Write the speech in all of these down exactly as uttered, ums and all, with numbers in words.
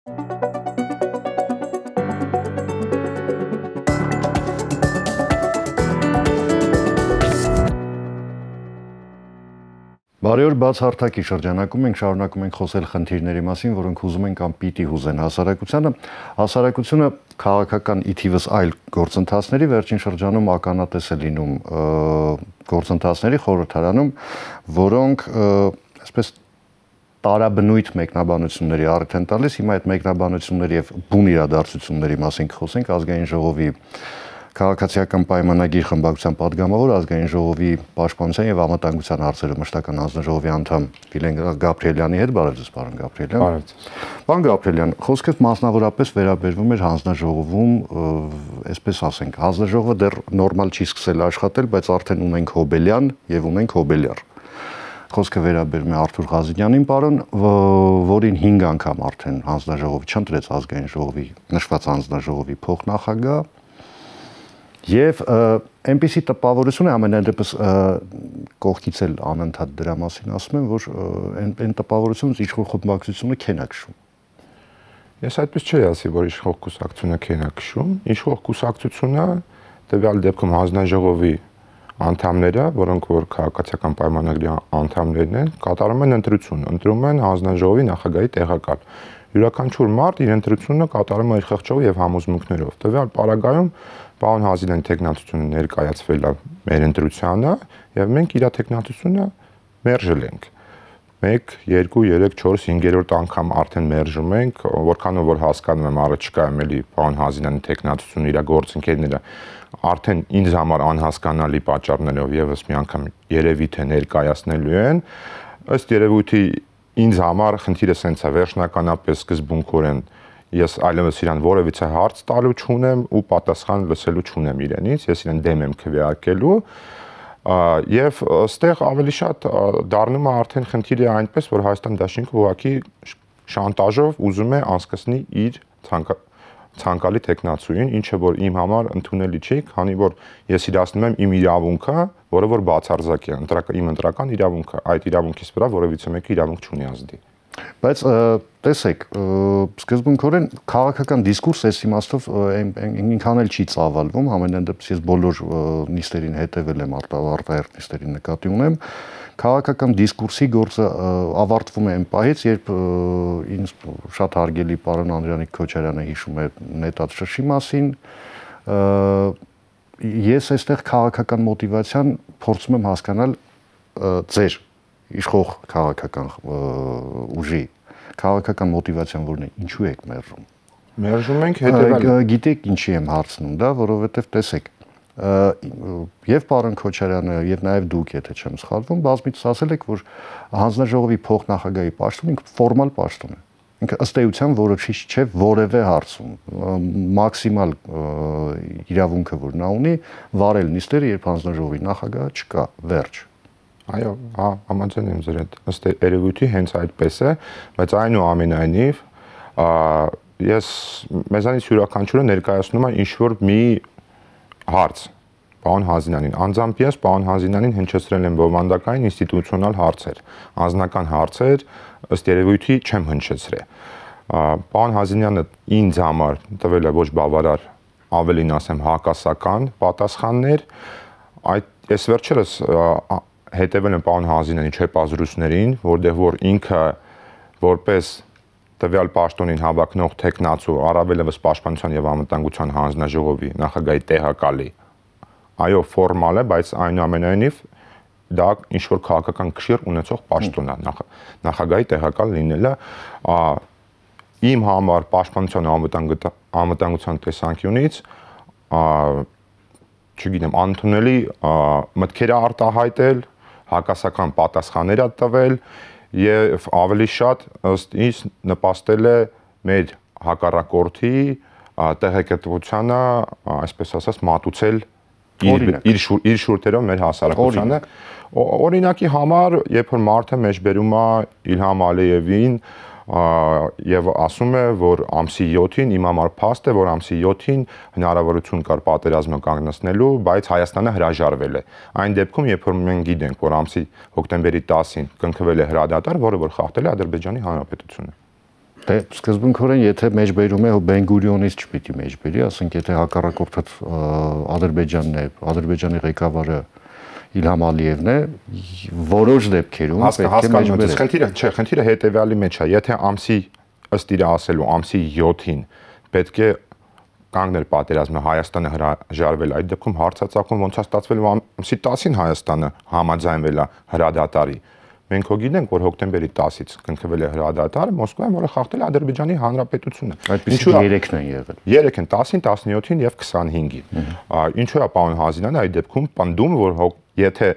Բարի օր, բացահարթակի շրջանակում ենք շարունակում ենք խոսել խնդիրների մասին, որոնք հուզում են կամ պիտի հուզեն հասարակությանը։ Հասարակությունը քաղաքական ի թիվս այլ գործընթացների վերջին շրջանում ականատես է լինում գործընթացների խորհրդարանում, որոնք այսպես տարաբնույթ մեկնաբանությունների առիթ են տալիս։ Հիմա այդ մեկնաբանությունների եւ բուն իրադարձությունների մասին կխոսենք ազգային ժողովի Քաղաքացիական պայմանագիր խմբակցության падգամավոր ազգային ժողովի պաշտպանության եւ անվտանգության հարցերով մշտական հանձնաժողովի անդամ Վիլեն Գաբրիելյանի հետ բարև ձեզ, պարոն Գաբրիելյան։ Բարև ձեզ։ Պարոն Գաբրիելյան, խոսքը մասնավորապես վերաբերվում էր հանձնաժողովում, այսպես ասենք, հանձնաժողովը դեռ նորմալ չի սկսել աշխատել, բայց արդեն ունենք Հոբելյան եւ ունենք Հոբելյար։ Խոսքը վերաբերում է Արթուր Ղազինյանին, պարոն, որին հինգ անգամ արդեն հանձնաժողովը չընտրեց ազգային ժողովի նշված հանձնաժողովի փոխնախագահ։ Եվ այնպիսի տպավորություն է ամենայն դեպս կողքից էլ անընդհատ դրա մասին ասում եմ, որ այն տպավորությունից իշխող խմբակցությունը քեն է քշում։ Ես այդպես չէի ասի, որ իշխող կուսակցությունը քեն է քշում, իշխող կուսակցությունը տվյալ դեպքում հանձնաժողովի անդամները, որոնք որ քաղաքացիական պայմանագրի անդամներն են, կատարում են ընտրություն, ընտրում են հանձնաժողովի նախագահի տեղակալ։ Յուրաքանչյուր մարդ իր ընտրությունը կատարում է իր խղճով եւ համոզմունքներով։ Տվյալ պարագայում պարոն Հազինյանի տեխնատությունը ներկայացվել է մեր ընտրությանը եւ մենք իր տեխնատությունը մերժել ենք։ մեկ, երկու, երեք, չորս, հինգերորդ անգամ արդեն մերժում ենք, որքանով որ հասկանում եմ առաջիկայում էլի պարոն Հազինյանի տեխնատությունը իր գործընկերները արդեն ինձ համար անհասկանալի պատճառներով եւս մի անգամ երևի թե ներկայացնելու են, ըստ երևույթի ինձ համար խնդիրը սենց է վերջնականապես սկզբունքորեն ես այլևս իրան որևիցե հարց տալու չունեմ ու պատասխան լսելու չունեմ իրենից, ես իրեն դեմ եմ քվեարկելու եւ այստեղ ավելի շատ դառնում է արդեն խնդիրը այնպես, որ Հայաստան Դաշինքը ուղղակի շանտաժով ուզում է անցկացնի իր ցանկալի տեխնացուին, ինչը որ իմ համար ընդունելի չի, քանի որ ես իրացնում եմ իմ իրավունքը, որը որ բացարձակ է, իմ ընտրական իրավունքը, այդ իրավունքից վրա որևիցե մեկը իրավունք չունի ազդի։ Բայց տեսեք, սկզբունքորեն քաղաքական դիսկուրս այս իմաստով ինքան էլ չի ծավալվում, ամենայն դեպս ես բոլոր նիստերին հետևել եմ, արտահերթ նիստերին նկատի ունեմ, քաղաքական դիսկուրսի գործը ավարտվում է այն պահից, երբ ինձ շատ հարգելի պարոն Անդրանիկ Քոչարյանը հիշում է նետած շշի մասին, ես այստեղ քաղաքական մոտիվացիան փորձում եմ հասկանալ ձեր իշխող քաղաքական ուժի քաղաքական մոտիվացիան որն է, ինչու եք մերժում։ Մերժում ենք հետևել։ Գիտեք ինչի եմ հարցնում, դա, որովհետև տեսեք, եւ պարոն Քոչարյանը եւ նաեւ դուք, եթե չեմ սխալվում, բազմիցս ասել եք, որ հանձնաժողովի փոխնախագահի պաշտոնը ինքը ֆորմալ պաշտոն է։ Ինքը ըստ էության որոշիչ չէ որևէ հարցում։ Մաքսիմալ իրավունքը, որ նա ունի, վարել նիստերը, երբ հանձնաժողովի նախագահը չկա, վերջ։ Այո, հա, համաձայն եմ ձեր հետ։ Ըստ երևույթի հենց այդպես է, բայց այնուամենայնիվ ես մեզանից յուրաքանչյուրը ներկայացնում է ինչ-որ մի հարց պարոն Հազինյանին։ Անձամբ ես պարոն Հազինյանին հնչեցրել եմ բովանդակային ինստիտուցիոնալ հարցեր, անձնական հարցեր, ըստ երևույթի չեմ հնչեցրել։ Պարոն Հազինյանը ինձ համար տվել է ոչ բավարար, ավելին ասեմ հակասական պատասխաններ, այդ ես վերջերս հետևել եմ պարոն Հազինյանի չեպազրույցներին, որտեղ որ ինքը որպես տվյալ պաշտոնին հավակնող տեխնացու առավելևս պաշտպանության եւ անվտանգության հանձնաժողովի նախագահի տեղակալի, այո, ֆորմալ է, բայց այնուամենայնիվ դա ինչ որ քաղաքական քշիռ ունեցող պաշտոն է, նախագահի տեղակալ լինելը իմ համար պաշտպանության անվտանգության տեսանկյունից չգիտեմ, անընդունելի մտքեր արտահայտել, հակասական պատասխաններ տվել եւ ավելի շատ ըստ ինձ նպաստել է մեր հակառակորդի տեղեկատվությանը, այսպես ասած, մատուցել իր իր շուրթերով մեր հասարակությանը։ Օրինակի համար, երբ որ մարդը մեջբերում է Իլհամ Ալիևին եւ ասում է, որ ամսի յոթին իմ համար փաստ է, որ ամսի յոթին հնարավորություն կար պատերազմը կանգնեցնելու, բայց Հայաստանը հրաժարվել է։ Այն դեպքում, երբ որ մենք գիտենք, որ ամսի հոկտեմբերի տասին կնքվել է հրադադար, որը որ խախտել է Ադրբեջանի Հանրապետությունը։ Դե սկզբունքորեն եթե մեջբերում է Բեն-Գուրիոնից չպիտի մեջբերի, ասենք եթե հակառակորդը Ադրբեջանն է, Ադրբեջանի ղեկավարը Իլհամ Ալիևն է, որոշ դեպքերում պետք է մեջբերել։ Խնդիրը, չէ, խնդիրը հետեւյալի մեջ է, եթե ամսի ըստ իր ասելու ամսի յոթին պետք է կանգնել պատերազմը, Հայաստանը հրաժարվել, այդ դեպքում հարցածախում ոնց է ստացվել ամսի տասին Հայաստանը համաձայնվել է հրադադարի։ Մենք հո գիտենք, որ հոկտեմբերի տասից կնքվել է հրադադարը, Մոսկվայում, որը խախտել է Ադրբեջանի Հանրապետությունը։ Այդպիսի երեքն են եղել։ երեք են, տասին, տասնյոթին եւ քսանհինգին։ Ինչու է պարոն Հազինյանը այդ դեպքում պնդում, որ եթե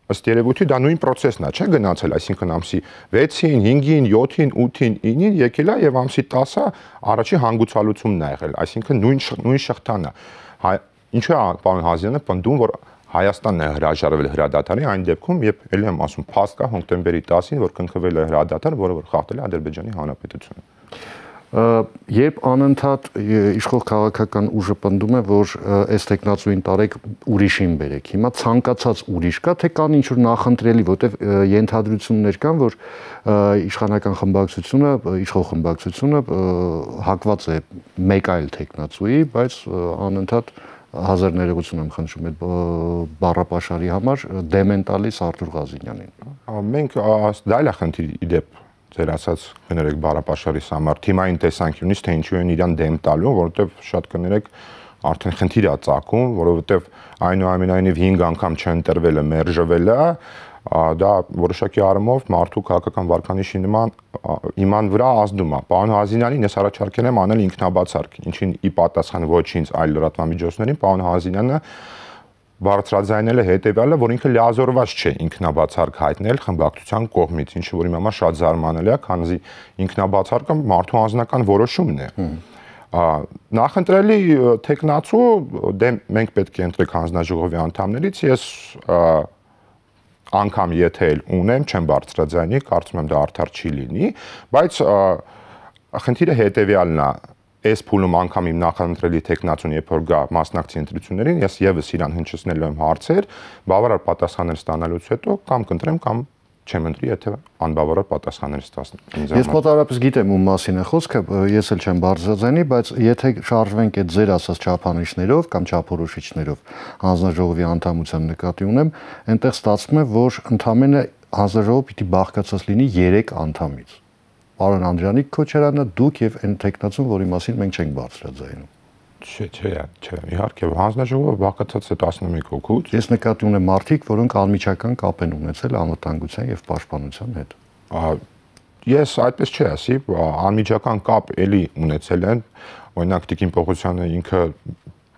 ըստ երևույթի դա նույն process-ն է, չէ՞ գնացել, այսինքն ամսի վեցին, հինգին, յոթին, ութին, ինին եկել է եւ ամսի տասը առաջի հանգուցալուծումն է եղել, այսինքն նույն նույն շղթան է։ Ինչու է պարոն Հազինյանը պնդում, որ Հայաստանն է հրաժարվել հրադադարի այն դեպքում, երբ ելի եմ ասում, փաստ կա հոկտեմբերի տասին, որ կնքվել է հրադադար, որը որ խախտել է Ադրբեջանի Հանրապետությունը։ Երբ անընդհատ իշխող քաղաքական ուժը պնդում է, որ այս տեխնացուին տարեք ուրիշին բերեք, հիմա ցանկացած ուրիշ կա, թե կան ինչ-որ նախընտրելի, որտեղ ենթադրություններ կան, որ իշխանական խմբակցությունը, իշխող խմբակցությունը հակված է մեկ այլ տեխնացուի, բայց անընդհատ հազար ներողություն եմ խնդրում այդ բառապաշարի համար դեմ են տալիս Արտուր Ղազինյանին։ Մենք դա էլ է խնդիր իդեպ ձեր ասած կներեք բառապաշարի համար թիմային տեսանկյունից թե ինչու են իրան դեմ տալու, որովհետև շատ կներեք արդեն խնդիր է ծագում, որովհետև այնուամենայնիվ հինգ անգամ չընտրվելը, մերժվելը դա որոշակի առումով մարդու քաղաքական վարկանիշի նման իման վրա ազդում է։ Պարոն Հազինյանին ես առաջարկել եմ անել ինքնաբացարկ, ինչին ի պատասխան ոչ ինձ, այլ լրատվամիջոցներին, պարոն Հազինյանը բարձրաձայնել է հետևյալը, որ ինքը լիազորված չէ ինքնաբացարկ հայտնել խմբակցության կողմից, ինչը որ իմ համար շատ զարմանալի է, քանզի ինքնաբացարկը մարդու անձնական որոշումն է։ Նախընտրելի տեխնացու դե մենք պետք է ընտրենք հանձնաժողովի անդամներից, ես անգամ եթե էլ ունեմ, չեմ բարձրաձայնի, կարծում եմ դա արդար չի լինի, բայց խնդիրը հետևյալն է, այս փուլում անգամ իմ նախընտրելի տեխնացուն երբ որ գա մասնակցի ընտրություններին, ես եւս իրան հնչեցնելու եմ հարցեր, բավարար պատասխաններ ստանալուց հետո կամ կընտրեմ կամ չեմ ընտրի, եթե անբավարար պատասխաններ ստացնեմ։ Ես մոտավորապես գիտեմ ում մասին է խոսքը, ես էլ չեմ բարձրաձայնի, բայց եթե շարժվենք այդ ձեր ասած չափանիշներով կամ չափորոշիչներով, հանձնաժողովի անդամության նկատի ունեմ, այնտեղ ստացվում է, որ ընդամենը հանձնաժողովը պիտի բաղկացած լինի երեք անդամից։ Պարոն Անդրանիկ Քոչարյանը, դուք եւ այն տեխնացուն, որի մասին մենք չենք բարձրաձայնում։ Չէ, չէ, չէ, իհարկե հանձնաժողովը բաղկացած է տասնմեկ հոգուց։ Ես նկատի ունեմ մարդիկ, որոնք անմիջական կապ են ունեցել անվտանգության եւ պաշտպանության հետ։ Ես այդպես չի ասի, անմիջական կապ էլի ունեցել են, օրինակ Տիկին Պողոսյանը ինքը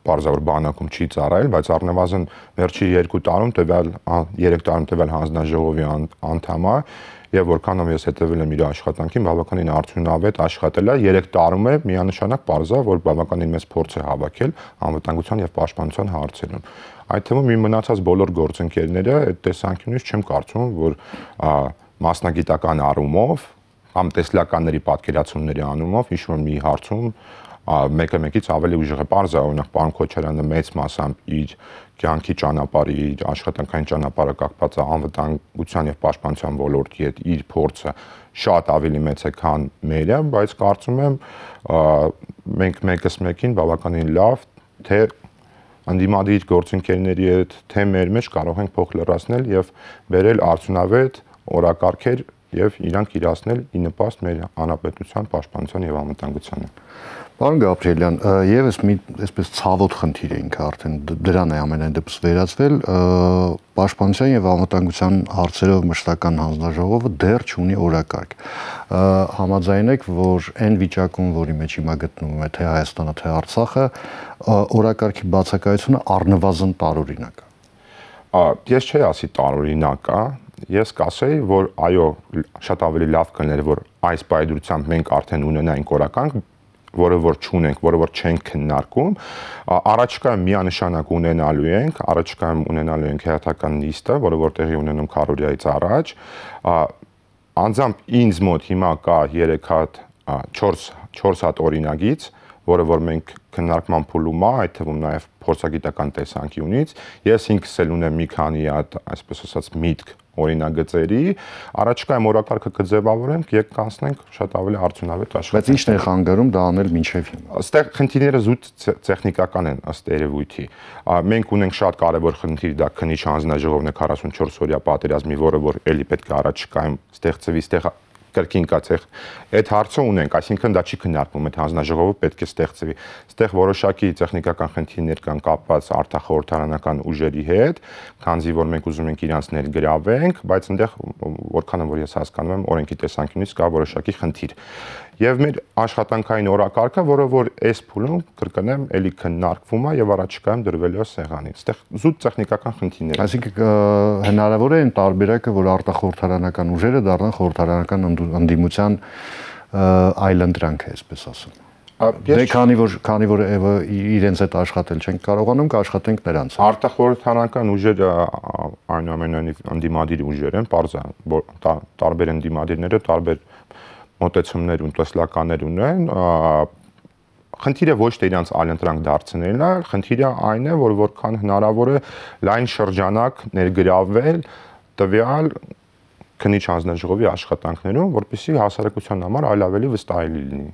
բարձր բանակում չի ծառայել, բայց առնվազն վերջի երկու տարում տվյալ երեք տարում տվյալ հանձնաժողովի անդամ է եւ որքանով ես հետեւել եմ իր աշխատանքին, բավականին արդյունավետ աշխատել է, երեք տարում է միանշանակ բարձր, որ բավականին մեծ փորձ է հավաքել անվտանգության եւ պաշտպանության հարցերում։ Այդ թվում իմ մնացած բոլոր գործընկերները այդ տեսանկյունից չեմ կարծում, որ մասնագիտական առումով կամ տեսլականների պատկերացումների անումով ինչ-որ մի հարցում մեկը մեկից ավելի ուժեղ է, բարձր, օրինակ պարոն Քոչարյանը մեծ մասամբ իր կյանքի ճանապարհի, իր աշխատանքային ճանապարհը կապված է անվտանգության եւ պաշտպանության ոլորտի հետ, իր փորձը շատ ավելի մեծ է, քան մերը, բայց կարծում եմ մենք մեկս մեկին բավականին լավ թե անդիմադիր գործընկերների հետ, թե մեր մեջ կարող ենք փոխ լրացնել եւ բերել արդյունավետ օրակարգեր եւ իրանք իրացնել ի նպաստ մեր հանրապետության պաշտպանության եւ անվտանգությանը։ Պարոն Գաբրիելյան, եւս մի այսպես ցավոտ խնդիր էինք արդեն դրան է ամենայն դեպս վերածվել, պաշտպանության եւ անվտանգության հարցերով մշտական հանձնաժողովը դեռ չունի օրակարգ։ Համաձայն եք, որ այն վիճակում, որի մեջ հիմա գտնվում է թե Հայաստանը, թե Արցախը, օրակարգի բացակայությունը առնվազն տարօրինակ է։ Ես չի ասի տարօրինակ է, ես կասեի, որ այո, շատ ավելի լավ կներ, որ այս պայդրությամբ մենք արդեն ունենայինք օրակարգ, որը որ չունենք, որը որ չենք քննարկում, առաջիկայում միանշանակ ունենալու ենք, առաջիկայում ունենալու ենք հերթական նիստը, որը որ տեղի ունենում քառորիայից առաջ, անձամբ ինձ մոտ հիմա կա երեք հատ, չորս հատ օրինագիծ, որը որ մենք քննարկման փուլում է, այդ թվում նաև փորձագիտական տեսանկյունից, ես ինքս էլ ունեմ մի քանի հատ, այսպես ասած, միտք օրինագծերի, առաջիկայում օրակարգը կձևավորենք եւ կանցնենք շատ ավելի արդյունավետ աշխատանք։ Բայց ի՞նչն է խանգարում դա անել մինչեւ հիմա։ Այստեղ խնդիրները զուտ տեխնիկական են ըստ երևույթի։ Մենք ունենք շատ կարևոր խնդիր, դա քննիչ հանձնաժողովն է քառասունչորս օրյա պատերազմի, որը որ էլի պետք է առաջիկայում ստեղծվի, ստեղ կրկին կացեղ այդ հարցը ունենք, այսինքն դա չի քննարկվում, այդ հանձնաժողովը պետք է ստեղծվի։ Այստեղ որոշակի տեխնիկական խնդիրներ կան կապված արտախորհրդարանական ուժերի հետ, քանզի որ մենք ուզում ենք իրանց ներգրավենք, բայց այնտեղ որքան որ ես հասկանում եմ, օրենքի տեսանկյունից կա որոշակի խնդիր։ Եվ մեր աշխատանքային օրակարգը, որը որ այս փուլում կրկնեմ, էլի քննարկվում է եւ առաջիկայում դրվելու է սեղանին։ Այստեղ զուտ տեխնիկական խնդիրներ։ Այսինքն հնարավոր է այն տարբերակը, որ արտախորհրդարանական ուժերը դառնան խորհրդարանական ընդդիմության այլընտրանք է, այսպես ասեմ։ Դե քանի որ քանի որ իրենց հետ աշխատել չենք կարողանում, կաշխատենք նրանց։ Արտախորհրդարանական ուժերը այնուամենայնիվ ընդդիմադիր ուժեր են, բարձր տարբեր ընդդիմադիրները տարբեր մոտեցումներ ու տեսլականներ ունեն, խնդիրը ոչ թե իրանց այլընտրանք դարձնելն է, խնդիրը այն է, որ որքան հնարավոր է լայն շրջանակ ներգրավել տվյալ քննիչ հանձնաժողովի աշխատանքներում, որպեսզի հասարակության համար այլ ավելի վստահելի լինի։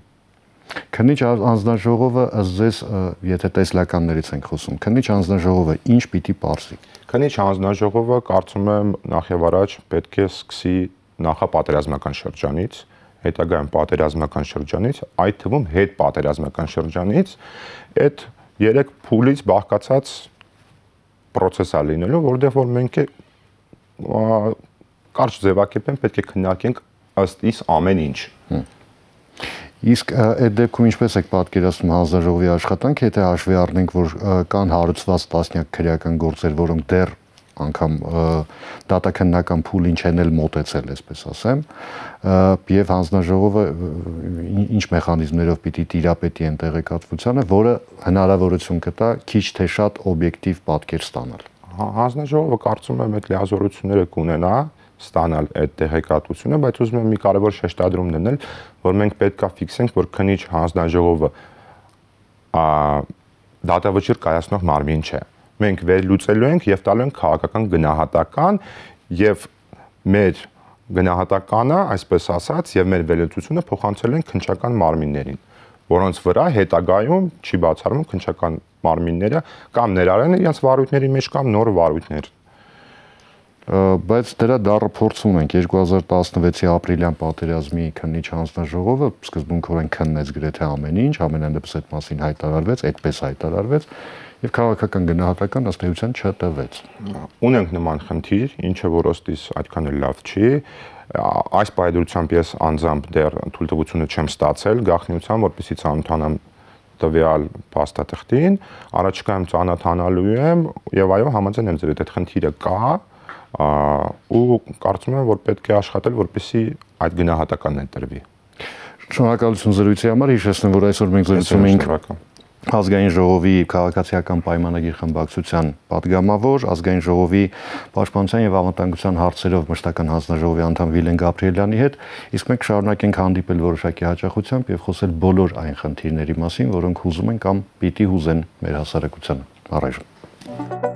Քննիչ հանձնաժողովը ըստ ձեզ, եթե տեսլականներից ենք խոսում, քննիչ հանձնաժողովը ինչ պիտի պարզի։ Քննիչ հանձնաժողովը կարծում եմ նախ եւ առաջ պետք է սկսի նախապատերազմական շրջանից, հետագայում պատերազմական շրջանից, այդ թվում հետ պատերազմական շրջանից, այդ երեք փուլից բաղկացած process է լինելու, որտեղ որ մենք է կարճ ձևակերպեն պետք է քննարկենք ըստ իս ամեն ինչ։ Իսկ այդ դեպքում ինչպես եք պատկերացնում հանձնաժողովի աշխատանքը, եթե հաշվի առնենք, որ կան հարուցված տասնյակ քրեական գործեր, որոնք դեռ անգամ դատաքննական փուլին չեն էլ մոտեցել, այսպես ասեմ, եւ հանձնաժողովը ինչ մեխանիզմներով պիտի տիրապետի այն տեղեկատվությանը, որը հնարավորություն կտա քիչ թե շատ օբյեկտիվ պատկեր ստանալ։ Հանձնաժողովը կարծում եմ այդ լիազորությունները կունենա ստանալ այդ տեղեկատվությունը, բայց ուզում եմ մի կարևոր շեշտադրում դնել, որ մենք պետք է ֆիքսենք, որ քննիչ հանձնաժողովը դատավճիռ կայացնող մարմին չէ։ Մենք վերլուծելու ենք եւ տալու ենք քաղաքական գնահատական եւ մեր գնահատականը, այսպես ասած, եւ մեր վերլուծությունը փոխանցել ենք քննչական մարմիններին, որոնց վրա հետագայում չի բացառվում քննչական մարմինները կամ ներառեն իրենց վարույթների մեջ կամ նոր վարույթներ։ Բայց դրա դառը փորձ ունենք երկու հազար տասնվեցի ապրիլյան պատերազմի քննիչ հանձնաժողովը սկզբունքորեն քննեց գրեթե ամեն ինչ, ամենանդեպս այդ մասին հայտարարվեց, այդպես հայտարարվեց եւ քաղաքական գնահատական ըստ էության չտվեց։ Ունենք նման խնդիր, ինչը որ ոստիս այդքան էլ լավ չի։ Այս պայմանությամբ ես անձամբ դեռ թույլտվությունը չեմ ստացել գաղտնիության, որպեսզի ծանոթանամ տվյալ փաստաթղթին, առաջիկայում ծանոթանալու եմ եւ այո, համաձայն եմ ձեր հետ, այդ խնդիրը կա ու կարծում եմ, որ պետք է աշխատել, որպեսզի այդ գնահատականն ընտրվի։ Շնորհակալություն զրույցի համար, հիշեցնեմ, որ այսօր մենք զրուցում ենք Ազգային ժողովի քաղաքացիական պայմանագիր խմբակցության պատգամավոր, Ազգային ժողովի պաշտպանության եւ անվտանգության հարցերով մշտական հանձնաժողովի անդամ Վիլեն Գաբրիելյանի հետ, իսկ մենք շարունակենք հանդիպել որոշակի հաճախությամբ եւ խոսել բոլոր այն խնդիրների մասին, որոնք հուզում են կամ պիտի հուզեն մեր հասարակությանը։ Առայժմ